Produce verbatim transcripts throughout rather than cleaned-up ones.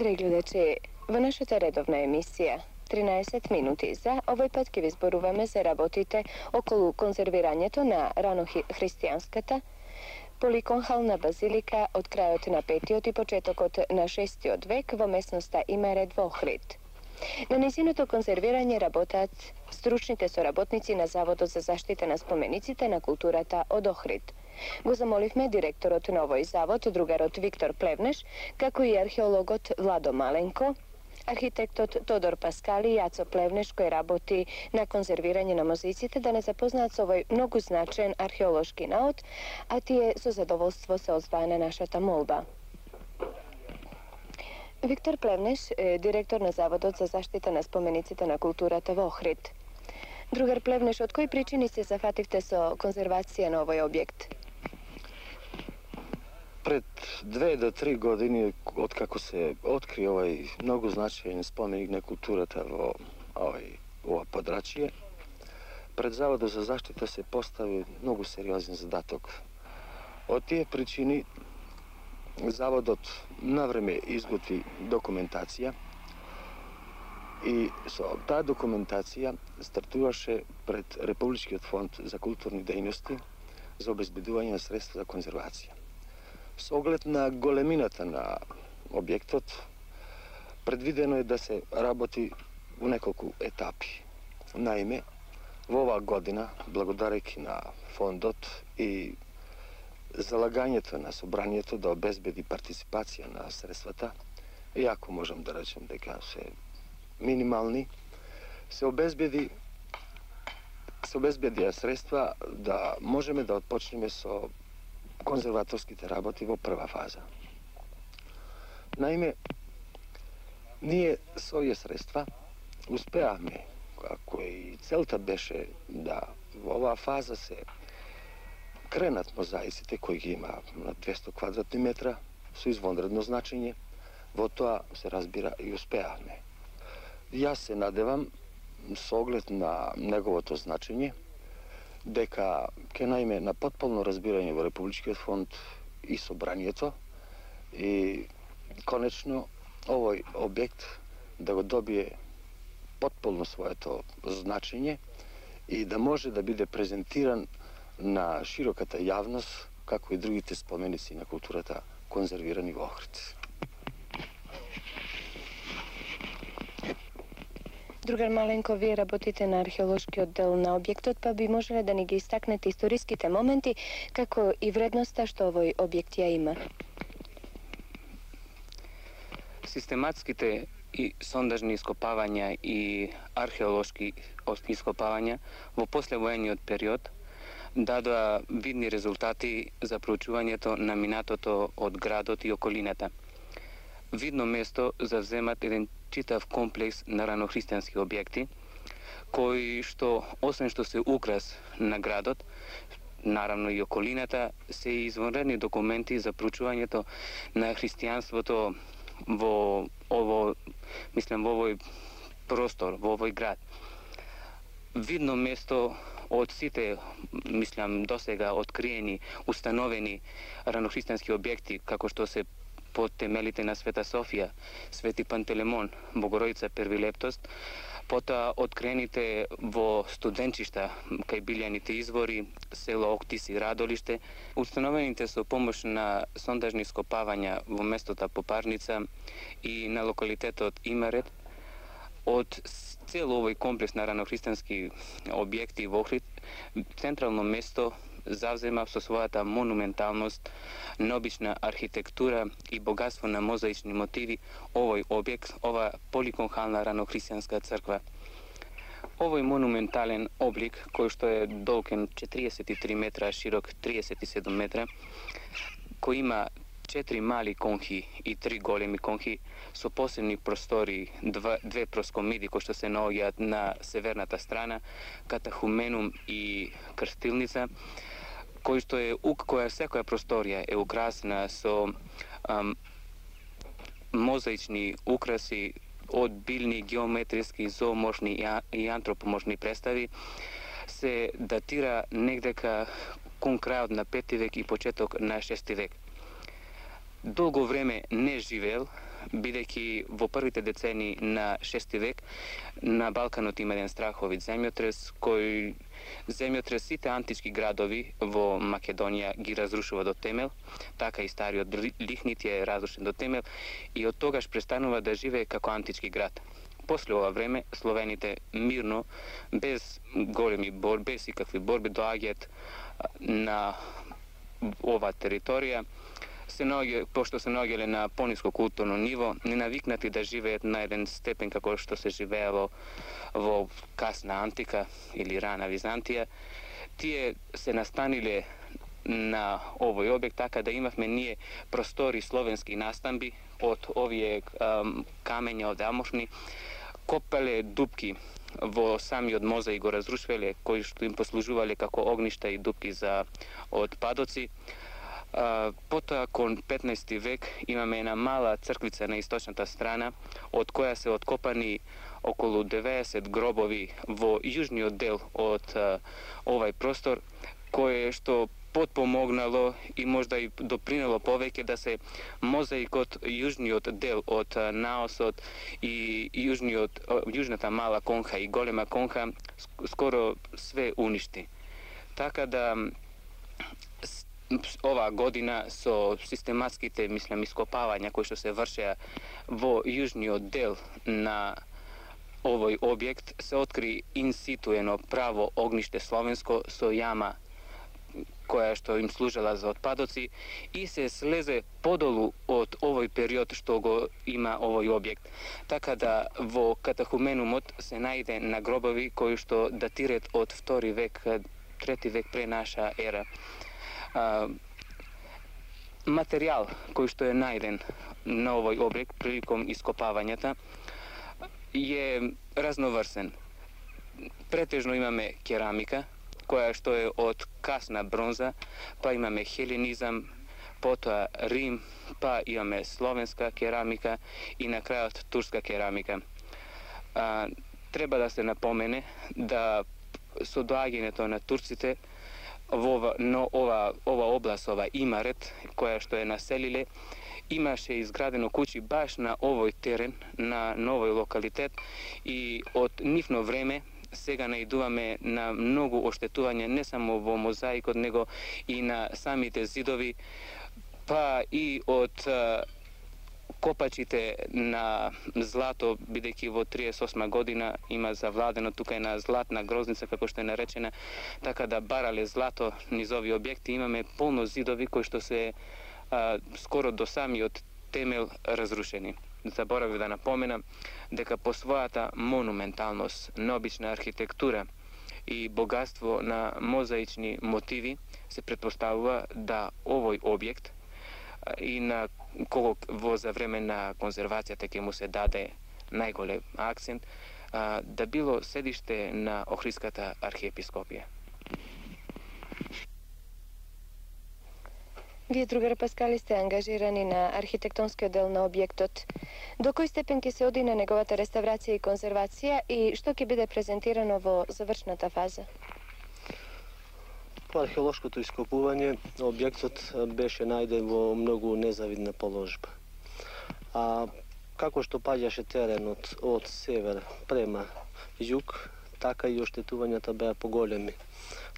Драги гледачи, во нашата редовна емисија тринаесет минути за овој пат ќе ви зборуваме за работите околу конзервирањето на ранохристијанската поликонхална базилика од крајот на петиот и почетокот на шестиот век во местноста Имерет во Охрид. На нејзиното конзервирање работат стручните соработници на Заводот за заштита на спомениците на културата од Охрид. Го замоливме директорот на овој завод, другарот Виктор Плевнеш, како и археологот Владо Маленко, архитектот Тодор Паскали и Јацо Плевнеш, кој работи на конзервирање на мозаиците, да не запознаат со овој многу значен археолошки наод, а тие со задоволство се озваа на нашата молба. Виктор Плевнеш е директор на Заводот за заштита на спомениците на културата во Охрид. Другар Плевнеш, од кои причини се зафативте со конзервација на овој објект? Пред две до три години, откако се откри овој многу значаен споменик на културата во овој ова подрачје, пред Заводот за заштита се постави многу сериозен задаток. Од тие причини Заводот навреме изготви документација и со таа документација стартуваше пред Републичкиот фонд за културни дејности за обезбедување на средства за конзервација. Со оглед на големината на објектот, предвидено е да се работи во неколку етапи. Наиме, во оваа година, благодарејќи на фондот и залагањето на собранието да обезбеди партиципација на средствата, иако можам да речем дека се минимални, се обезбеди се обезбедија средства да можеме да отпочнеме со конзерваторските работи во прва фаза. Наиме, ние со овие средства успеавме, како и целта беше да во оваа фаза се кренат мозаиците кои ги има на двесто квадратни метра со извонредно значење, во тоа се разбира и успеавме. Јас се надевам, со оглед на неговото значење, дека ќе најме на потполно разбирање во Републичкиот фонд и собранието и конечно овој објект да го добие потполно своето значење и да може да биде презентиран на широката јавност, како и другите споменици на културата конзервирани во Охрид. Другар Маленко, вие работите на археолошкиот дел на објектот, па би можеле да ни ги истакнете историските моменти, како и вредноста што овој објект ја има? Систематските и сондажни ископавања и археолошки ископавања во послевоениот период дадоа видни резултати за проучувањето на минатото од градот и околината. Видно место завземат еден читав комплекс на ранохристијански објекти, кои што, освен што се украс на градот, наравно и околината, се и извонредни документи за проучувањето на христијанството во ово, мислам, во овој простор, во овој град. Видно место од сите, мислам, досега откриени, установени ранохристијански објекти, како што се под темелите на Света Софија, Свети Пантелемон, Богородица Первилептост, потоа открените во студенчишта кај Билјаните извори, село Октис и Радолиште, установените со помош на сондажни ископавања во местото Попарница и на локалитетот Имерет, од цел овој комплекс на ранохристијански објекти во Охрид, централно место завзема со својата монументалност, необична архитектура и богатство на мозаични мотиви овој објект, ова поликонхална ранохристијанска црква. Овој монументален облик, кој што е долген четириесет и три метра, широк триесет и седум метра, кој има четири мали конхи и три големи конхи со посебни простори, два, две проскомиди кои што се наоѓаат на северната страна, катахуменум и крстилница, кој што е која секоја просторија е украсена со ам, мозаични украси од билни, геометриски, зооморфни и антропоморфни представи, се датира негдека кон крајот на пети век и почеток на шести век. Долго време не живеел бидејќи во првите децени на шести век на Балканот има еден страховит земјотрес кој земјотрес сите антички градови во Македонија ги разрушува до темел, така и стариот Лихнит е разрушен до темел и од тогаш престанува да живее како антички град. После ова време словените мирно, без големи борби, без икакви борби, доаѓаат на оваа територија, се наоѓа, пошто се наоѓале на пониско културно ниво, не навикнати да живеат на еден степен како што се живеело во касна антика или рана Византија, тие се настаниле на овој објект, така да имавме ние простори словенски настамби од овие ам, камења од аморфни, копале дупки во самиот мозаик, го разрушвале, кои што им послужувале како огништа и дупки за отпадоци. Uh, потоа кон петнаести век имаме една мала црквица на источната страна, од која се откопани околу деветдесет гробови во јужниот дел од uh, овај простор, кое што потпомогнало и можда и допринело повеќе да се мозаикот, јужниот дел од uh, наосот и јужниот, uh, јужната мала конха и голема конха скоро све уништи. Така да оваа година со систематските, мислам, ископавања кои што се вршеа во јужниот дел на овој објект, се откри инситу едно право огниште словенско со јама која што им служела за отпадоци и се слезе подолу од овој период што го има овој објект. Така да во катахуменумот се најде на гробови кои што датираат од втори век, трети век пре наша ера. Uh, материјал кој што е најден на овој објект приликом ископавањата е разноврсен. Претежно имаме керамика, која што е од касна бронза, па имаме хеленизам, потоа Рим, па имаме словенска керамика и на крајот турска керамика. Uh, треба да се напомене да со доаѓањето на турците во ова, но ова, ова област, ова Имарет, која што е населиле, имаше изградено куќи баш на овој терен, на новој локалитет и од нивно време сега наидуваме на многу оштетување не само во мозаикот, него и на самите зидови, па и од копачите на злато, бидејќи во триесет и осма година има завладено тука една златна грозница, како што е наречена, така да барале злато низ овие објекти. Имаме полно зидови кои што се а, скоро до самиот темел разрушени. Заборавив да напоменам дека по својата монументалност, необична архитектура и богатство на мозаични мотиви се претпоставува да овој објект и на кого во за време на конзервацијата ќе му се даде најголем акцент, а, да било седиште на Охридската архиепископија. Вие, другар Паскали, сте ангажирани на архитектонскиот дел на објектот. До кој степен ќе се оди на неговата реставрација и конзервација и што ќе биде презентирано во завршната фаза? По археолошкото ископување, објектот беше најден во многу незавидна положба. А како што паѓаше теренот од север према југ, така и оштетувањата беа поголеми.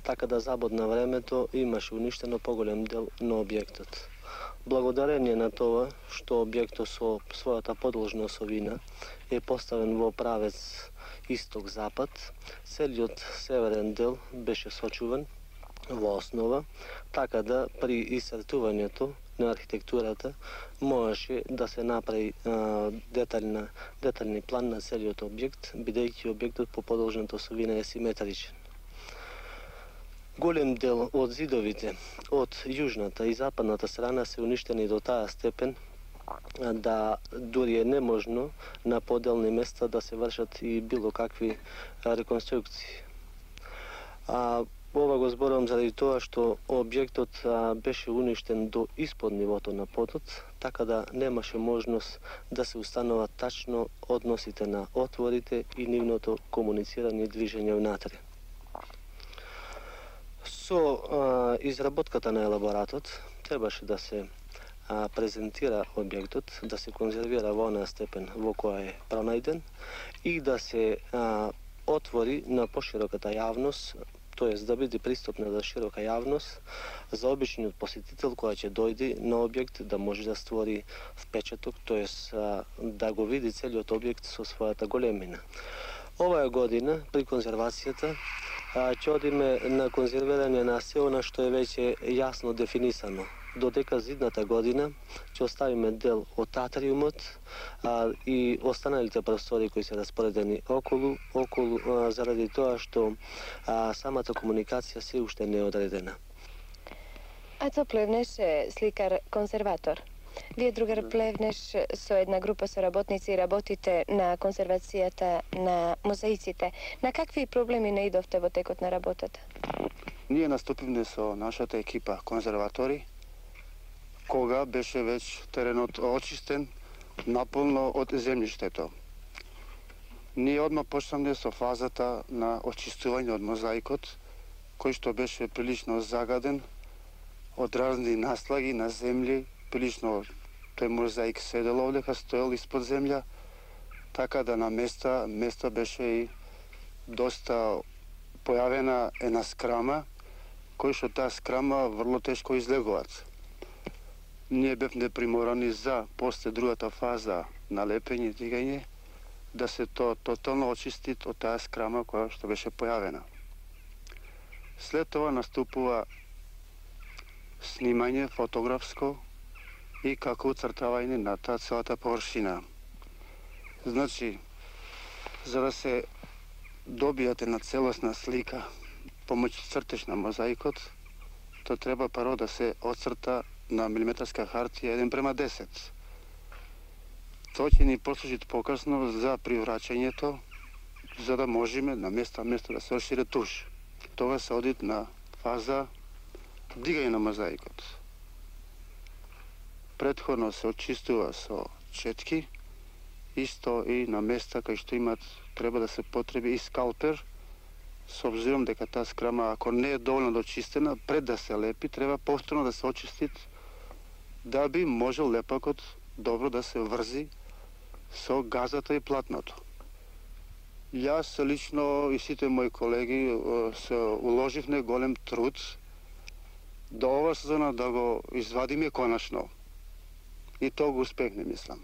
Така да забод на времето имаше уништено поголем дел на објектот. Благодарение на тоа што објектот со својата подложна осовина е поставен во правец исток-запад, целиот северен дел беше сочуван во основа, така да при исцртувањето на архитектурата можеше да се направи а, детална, детални план на целиот објект, бидејќи објектот по подолжната осовина е симетричен. Голем дел од зидовите од јужната и западната страна се уништени до таа степен да дури е неможно на поделни места да се вршат и било какви реконструкции. А, ова го зборувам заради тоа што објектот а, беше уништен до испод нивото на подот, така да немаше можност да се устанува тачно односите на отворите и нивното комуницирање и движење внатре. Со а, изработката на елаборатот требаше да се а, презентира објектот, да се конзервира во онаа степен во која е пронајден и да се а, отвори на пошироката јавност, тоест да биде пристапна за широка јавност, за обичниот посетител кој ќе дојде на објект да може да створи впечаток, тоест да го види целиот објект со својата големина. Оваа година при конзервацијата ќе одиме на конзервирање на се она што е веќе јасно дефинисано. Додека зидната година ќе оставиме дел од атриумот а, и останалите простори кои се распоредени околу, околу а, заради тоа што а, самата комуникација се уште не е одредена. Ацо Плевнеш е сликар-конзерватор. Вие, другар Плевнеш, со една група соработници работите на конзервацијата на мозаиците. На какви проблеми наидовте во текот на работата? Ние наступивме со нашата екипа конзерватори, кога беше веќе теренот очистен наполно од земјиштето. Ние одма почнавме со фазата на очистување од мозаикот, кој што беше прилично загаден од разни наслаги на земји, прилично тој мозаик седел овдека, стоел испод земја, така да на места, места беше и доста појавена една скрама, кој што таа скрама врло тешко излегуваат. Ние бевме приморани за после другата фаза на лепење и дигање да се то тотално очисти од таа скрама која што беше појавена. След тоа наступува снимање фотографско и како уцртавање на таа целата површина. Значи, за да се добијате на целосна слика помој цртеж на мозаикот, то треба прво да се оцрта на милиметарска хартија еден према десет. Тоа ќе ни послужи покасно за привраќањето, за да можеме на место место да се ошире туш. Тоа се оди на фаза дигање на мозаикот. Претходно се очистува со четки, исто и на места кај што имат треба да се потреби и скалпер, со обзиром дека таа скрама, ако не е доволно дочистена, пред да се лепи, треба повторно да се очисти, да би можел лепакот добро да се врзи со газата и платното. Јас лично и сите мои колеги се уложивме голем труд до ова сезона да го извадиме конечно. И тоа го успехне, мислам.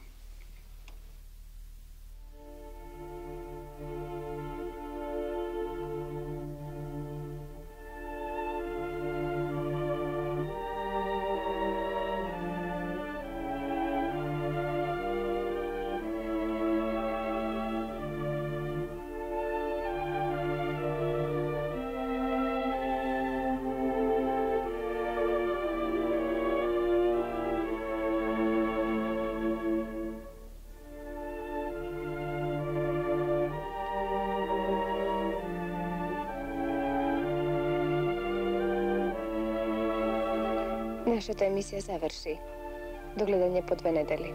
Нашата емисија заврши. До гледање по две недели.